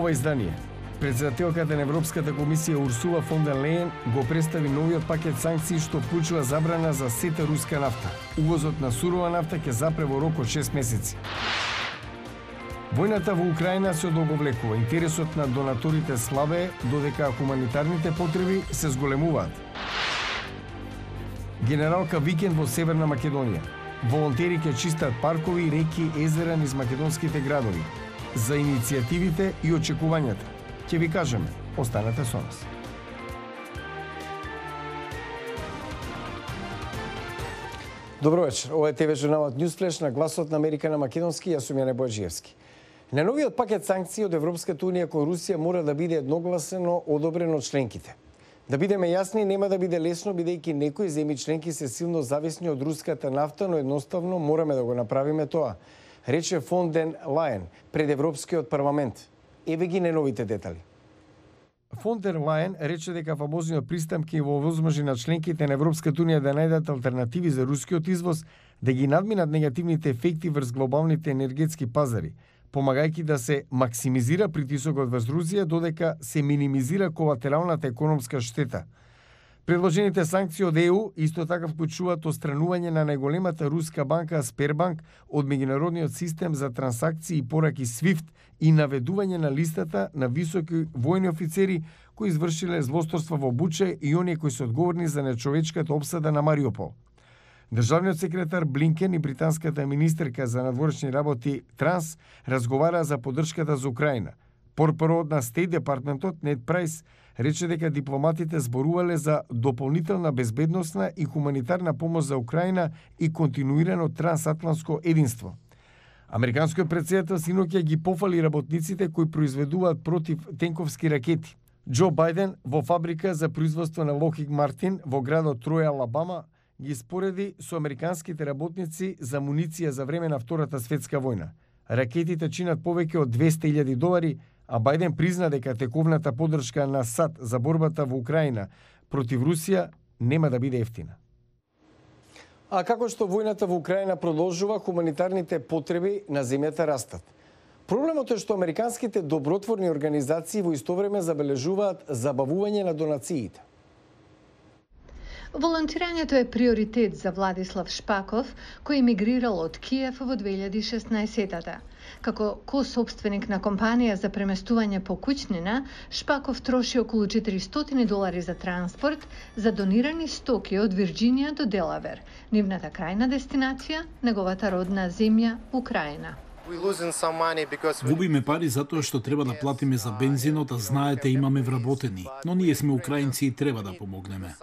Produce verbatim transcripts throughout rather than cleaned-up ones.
ова издание. Председателката на Европската комисија Урсула фон дер Лејен го представи новиот пакет санкции што вклучува забрана за сета руска нафта. Увозот на сурова нафта ќе запре во рок од шест месеци. Војната во Украина се одолговлекува. Интересот на донаторите слабее, додека хуманитарните потреби се зголемуваат. Генералка викенд во Северна Македонија. Волонтери ќе чистат паркови, реки, езера низ македонските градови. За иницијативите и очекувањата ќе ви кажеме. Останете со нас. Добро вечер. Ова е ТВ журналот Newsflash на гласот на Америка на македонски. Јас сум Јане Бојаджиевски. На новиот пакет санкции од Европската унија кон Русија мора да биде едногласно одобрен од членките. Да бидеме јасни, нема да биде лесно, бидејќи некои земји членки се силно зависни од руската нафта, но едноставно мораме да го направиме тоа, рече фон дер Лајен пред Европскиот парламент. Еве ги најновите детали. Фон дер Лајен рече дека фамозниот пристап ќе во возможи на членките на Европската унија да најдат алтернативи за рускиот извоз, да ги надминат негативните ефекти врз глобалните енергетски пазари, помагајќи да се максимизира притисокот врз Русија, додека се минимизира колатералната економска штета. Предложените санкции од Е У исто така вклучуваат отстранување на најголемата руска банка Сбербанк од меѓународниот систем за трансакции и пораки свифт и наведување на листата на високи војни офицери кои извршиле злосторства во Буча и оние кои се одговорни за нечовечката обсада на Мариупол. Државниот секретар Блинкен и британската министерка за надворешни работи Транс разговараа за поддршката за Украина. Порпорот на Стейт Департментот Нед Прайс рече дека дипломатите зборувале за дополнителна безбедносна и хуманитарна помош за Украина и континуирано трансатлантско единство. Американскиот претседател синоќа ги пофали работниците кои произведуваат против тенковски ракети. Џо Бајден во фабрика за производство на Локхид Мартин во градот Троја, Алабама, ги спореди со американските работници за муниција за време на Втората светска војна. Ракетите чинат повеќе од двесте илјади долари, а Бајден призна дека тековната поддршка на САД за борбата во Украина против Русија нема да биде ефтина. А како што војната во Украина продолжува, хуманитарните потреби на земјата растат. Проблемот е што американските добротворни организации во исто време забележуваат забавување на донациите. Волонтирањето е приоритет за Владислав Шпаков, кој емигрирал од Киев во две илјади и шеснаесетта. Како ко-собственик на компанија за преместување по куќнина, Шпаков троши околу четиристотини долари за транспорт за донирани стоки од Вирџинија до Делавер, нивната крајна дестинација, неговата родна земја Украина. Губиме пари затоа што треба да платиме за бензинот, а знаете имаме вработени, но ние сме украинци и треба да помогнеме.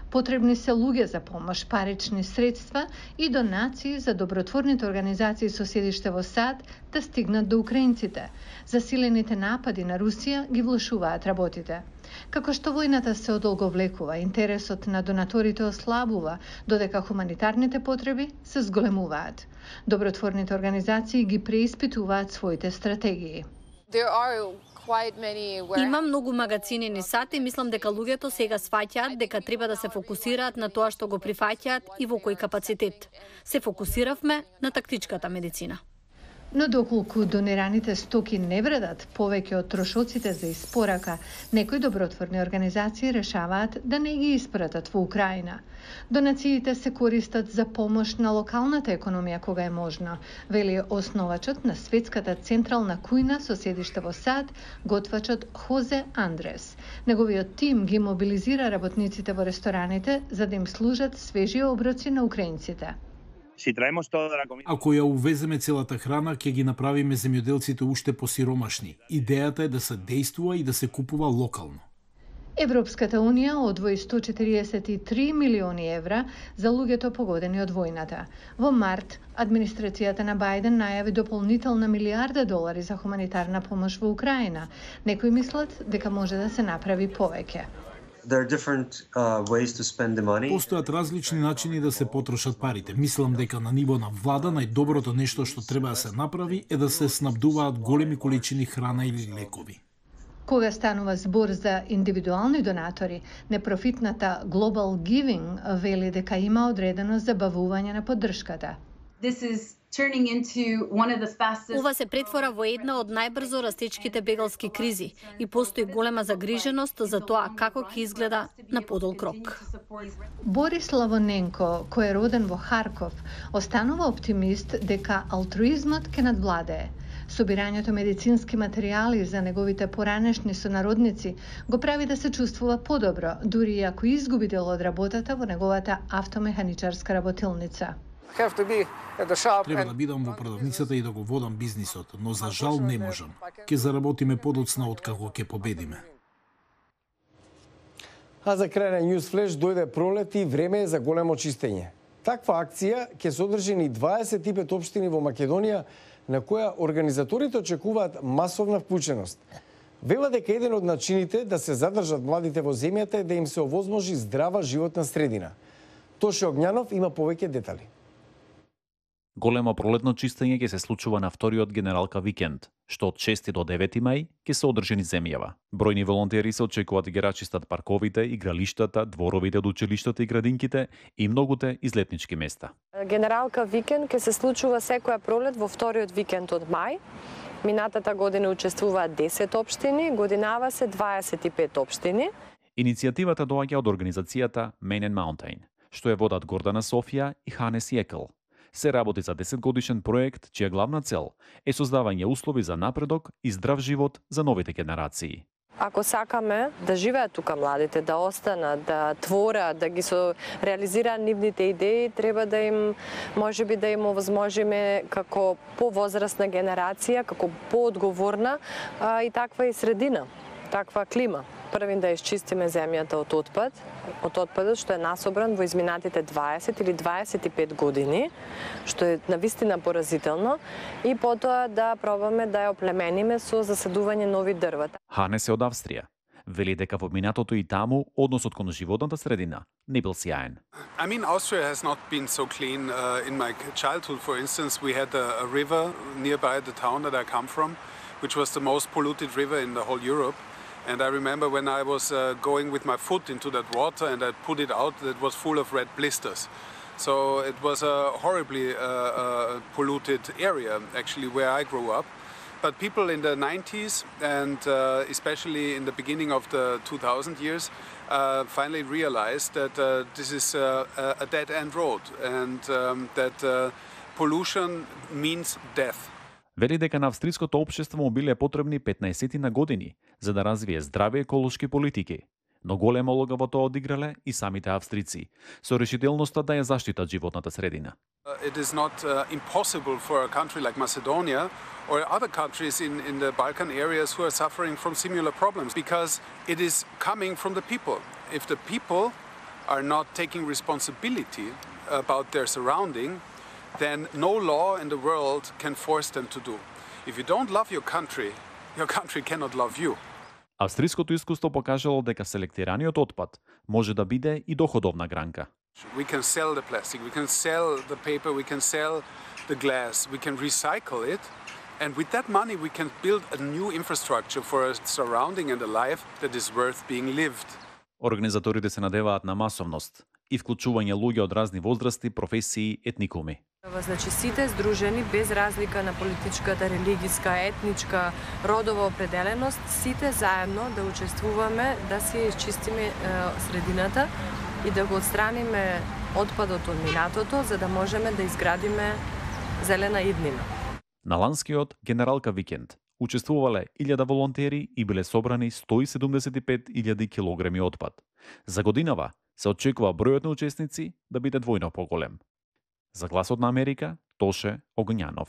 Потребни се луѓе за помош, парични средства и донации за добротворните организации со седиште во САД да стигнат до украинците. Засилените напади на Русија ги влошуваат работите. Како што војната се одолговлекува, интересот на донаторите ослабува, додека хуманитарните потреби се зголемуваат. Добротворните организации ги преиспитуваат своите стратегии. Има многу магазини низ САД и мислам дека луѓето сега сваќаат дека треба да се фокусираат на тоа што го прифаќаат и во кој капацитет. Се фокусиравме на тактичката медицина. Но доколку донираните стоки не вредат повеќе од трошоците за испорака, некои добротворни организации решаваат да не ги испратат во Украина. Донациите се користат за помош на локалната економија кога е можно, вели основачот на Светската централна кујна со седиште во САД, готвачот Хозе Андрес. Неговиот тим ги мобилизира работниците во рестораните за да им служат свежи оброци на украинците. Ако ја увеземе целата храна, ќе ги направиме земјоделците уште посиромашни. Идејата е да се действува и да се купува локално. Европската унија одвои сто четириесет и три милиони евра за луѓето погодени од војната. Во март, администрацијата на Бајден најави дополнителна милијарда долари за хуманитарна помош во Украина. Некои мислат дека може да се направи повеќе. Постојат различни начини да се потрошат парите. Мислам дека на ниво на влада најдоброто нешто што треба да се направи е да се снабдуваат големи количини храна или лекови. Кога станува збор за индивидуални донатори, непрофитната Global Giving вели дека има одредено забавување на поддршката. turning into one of the fastest. Ова се претвора во една од најбрзо растечките бегалски кризи и постои голема загриженост за тоа како ќе изгледа на подолг рок. Борис Лавоненко, кој е роден во Харков, останува оптимист дека алтруизмот ќе надвладее. Собирањето медицински материјали за неговите поранешни сонародници го прави да се чувствува подобро, дури и ако изгуби дел од работата во неговата автомеханичарска работилница. Треба да бидам во продавницата и да го водам бизнисот, но за жал не можам. Ке заработиме подоцна од како ќе победиме. А за крај на News Flash дојде пролет и време е за големо чистење. Таква акција ќе се одржи низ дваесет и пет општини во Македонија, на која организаторите очекуваат масовна вклученост. Вела дека еден од начините да се задржат младите во земјата е да им се овозможи здрава животна средина. Тоше Огњанов има повеќе детали. Големо пролетно чистење ќе се случува на вториот генералка викенд, што од шести до девети мај ќе се одржи низ земјава. Бројни волонтери се очекуваат да ги рачистат парковите, игралиштата, дворовите од училиштата и градинките и многуте излетнички места. Генералка викенд ќе се случува секоја пролет во вториот викенд од мај. Минатата година учествуваат десет општини, годинава се дваесет и пет општини. Иницијативата доаѓа од организацијата Man and Mountain, што е водат Гордана Софија и Ханес Јекл. Се работи за десетгодишен проект, чија главна цел е создавање услови за напредок и здрав живот за новите генерации. Ако сакаме да живеат тука младите, да останат, да творат, да ги со реализираат нивните идеи, треба да им, можеби да им овозможиме како повозрастна генерација, како поодговорна а, и таква и средина, таква клима. Првин да исчистиме земјата од отпад, од отпадот што е насобран во изминатите дваесет или дваесет и пет години, што е навистина поразително, и потоа да пробаме да ја оплемениме со засадување нови дрвета. Ханес е од Австрија. Вели дека во минатото и таму односот кон животната средина не бил сјаен. I mean, Austria has not been so clean. Uh, in my childhood, for instance, we had a, a river nearby the town that I come from, which was the most polluted river in the whole Europe. And I remember when I was uh, going with my foot into that water and I put it out, it was full of red blisters. So it was a horribly uh, uh, polluted area, actually, where I grew up. But people in the nineties and uh, especially in the beginning of the two thousand years uh, finally realized that uh, this is uh, a dead-end road and um, that uh, pollution means death. Вели дека на австриското општество му биле потребни петнаесет на години за да развие здрави еколошки политики. Но голема улога во тоа одиграле и самите австрици, со решителноста да ја заштитат животната средина. It is not uh, impossible for a country like Macedonia or other countries in, in the Balkan areas who are suffering from similar problems because it is coming from the people. If the people are not taking responsibility about their surrounding, then no law in the world can force them to do. If you don't love your country, your country cannot love you. Австриското искуство покажало дека селектираниот отпад може да биде и доходовна гранка. We can sell the plastic, we can sell the paper, we can sell the glass, we can recycle it, and with that money we can build a new infrastructure for a surrounding and a life that is worth being lived. Организаторите се надеваат на масовност и вклучување луѓе од разни возрасти, професии, етникуми. Значи сите здружени без разлика на политичката, религиска, етничка, родова определеност, сите заедно да учествуваме, да си изчистиме е, средината и да го отстраниме отпадот од минатото, за да можеме да изградиме зелена иднина. На ланскиот генералка викенд учествувале илјада волонтери и биле собрани сто и седумдесет и пет илјади килограми отпад. За годинава се очекува бројот на учесници да биде двојно поголем. За Гласот на Америка, Тоше Огњанов.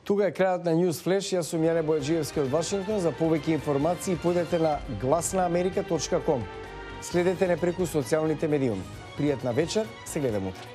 Тука е крајот на News Flash. Јас сум Јане Бојаджиевски од Вашингтон. За повеќе информации појдете на глас на америка точка ком. Следете не преку социјалните медиуми. Пријатна вечер, се гледаме утре.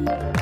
Thank you.